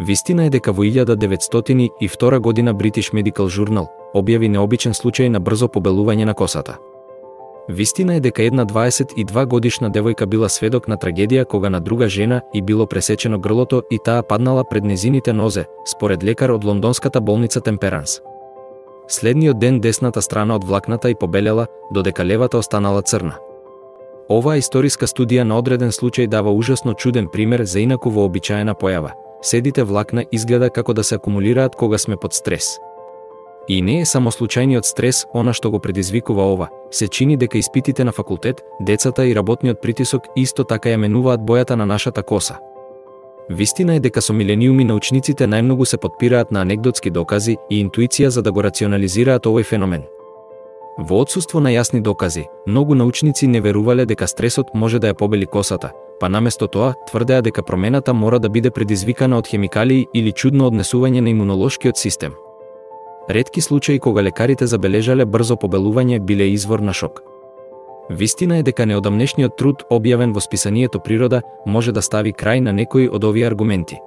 Вистина е дека во 1902 година British Medical Journal објави необичен случај на брзо побелување на косата. Вистина е дека една 22 годишна девојка била сведок на трагедија кога на друга жена и било пресечено грлото и таа паднала пред незините нозе, според лекар од лондонската болница Темперанс. Следниот ден десната страна од влакната и побелела, додека левата останала црна. Оваа историска студија на одреден случај дава ужасно чуден пример за инаку вообичаена појава. Седите влакна изгледа како да се акумулираат кога сме под стрес. И не е само случајниот стрес она што го предизвикува ова, се чини дека испитите на факултет, децата и работниот притисок исто така ја менуваат бојата на нашата коса. Вистина е дека со милениуми научниците најмногу се подпираат на анегдотски докази и интуиција за да го рационализираат овој феномен. Во отсуство на јасни докази, многу научници не верувале дека стресот може да ја побели косата, па наместо тоа тврдеа дека промената мора да биде предизвикана од хемикалии или чудно однесување на имунолошкиот систем. Ретки случаи кога лекарите забележале брзо побелување биле извор на шок. Вистина е дека неодамнешниот труд објавен во списанието Природа може да стави крај на некои од овие аргументи.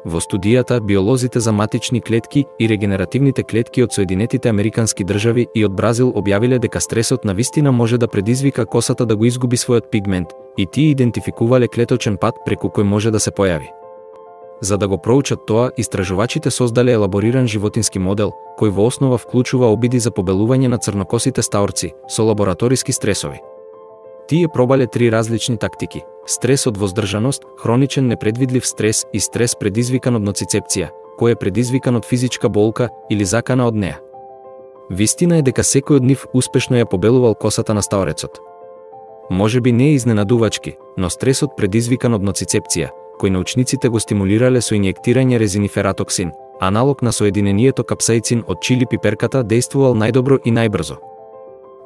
Во студијата биолозите за матични клетки и регенеративните клетки од Соединетите Американски држави и од Бразил објавиле дека стресот на вистина може да предизвика косата да го изгуби својот пигмент и тие идентификувале клеточен пат преку кој може да се појави. За да го проучат тоа, истражувачите создале елабориран животински модел, кој во основа вклучува обиди за побелување на црнокосите стаорци со лабораториски стресови. Тие пробале 3 различни тактики: стрес од воздржаност, хроничен непредвидлив стрес и стрес предизвикан од ноцицепција, кој е предизвикан од физичка болка или закана од неа. Вистина е дека секој од нив успешно ја побелувал косата на стаорецот. Можеби не е изненадувачки, но стресот предизвикан од ноцицепција, кој научниците го стимулирале со инјектирање резинифератоксин, аналог на соединението капсаицин од чили пиперката, дејствувал најдобро и најбрзо.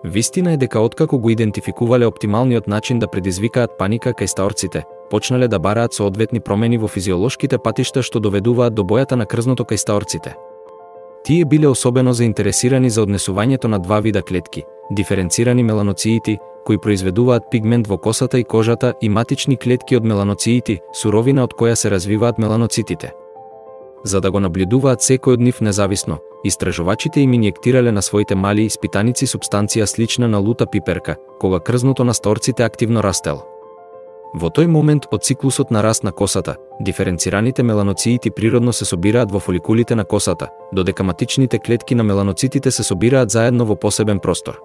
Вистина е дека откако го идентификувале оптималниот начин да предизвикаат паника кај стаорците, почнале да бараат соодветни промени во физиолошките патишта што доведуваат до бојата на крзното кај стаорците. Тие биле особено заинтересирани за однесувањето на два вида клетки: диференцирани меланоциити, кои произведуваат пигмент во косата и кожата, и матични клетки од меланоциити, суровина од која се развиваат меланоцитите. За да го наблюдуваат секој од нив независно, истражувачите им инјектирале на своите мали испитаници супстанција слична на лута пиперка, кога крзното на стаорците активно растело. Во тој момент од циклусот на раст на косата, диференцираните меланоциити природно се собираат во фоликулите на косата, додека матичните клетки на меланоцитите се собираат заедно во посебен простор.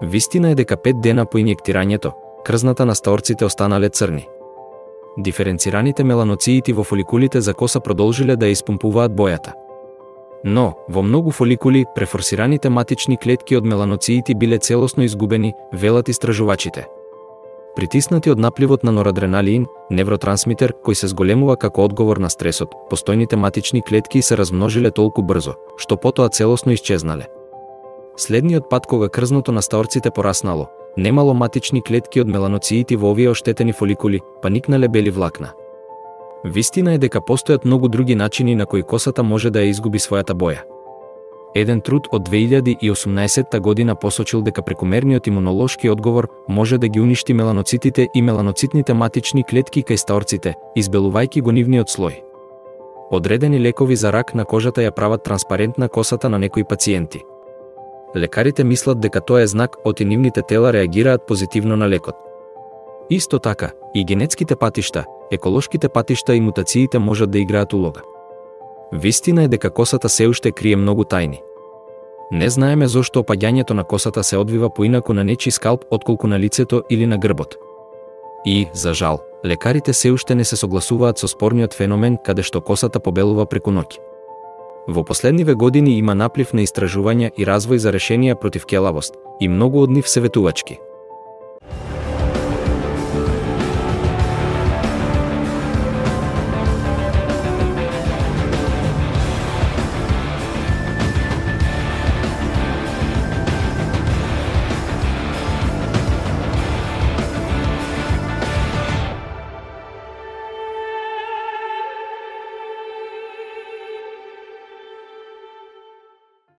Вистина е дека 5 дена по инјектирањето, крзната на стаорците останале црни. Диференцираните меланоциити во фоликулите за коса продолжиле да ја испумпуваат бојата. Но, во многу фоликули, префорсираните матични клетки од меланоциити биле целосно изгубени, велат истражувачите. Притиснати од напливот на норадреналин, невротрансмитер кој се зголемува како одговор на стресот, постојните матични клетки се размножиле толку брзо, што потоа целосно исчезнале. Следниот пат кога крзното на стаорците пораснало, немало матични клетки од меланоциити во овие оштетени фоликули, па никнале бели влакна. Вистина е дека постојат многу други начини на кои косата може да ја изгуби својата боја. Еден труд од 2018 година посочил дека прекумерниот имунолошки одговор може да ги уништи меланоцитите и меланоцитните матични клетки кај стаорците, избелувајќи го нивниот слој. Одредени лекови за рак на кожата ја прават транспарентна косата на некои пациенти. Лекарите мислат дека тоа е знак оти нивните тела реагираат позитивно на лекот. Исто така, и генетските патишта, еколошките патишта и мутациите можат да играат улога. Вистина е дека косата се уште крие многу тајни. Не знаеме зошто опаѓањето на косата се одвива поинаку на нечи скалп отколку на лицето или на грбот. И, за жал, лекарите се уште не се согласуваат со спорниот феномен каде што косата побелува преку ноќ. Во последниве години има наплив на истражувања и развој за решенија против келавост, и многу од нив се ветувачки.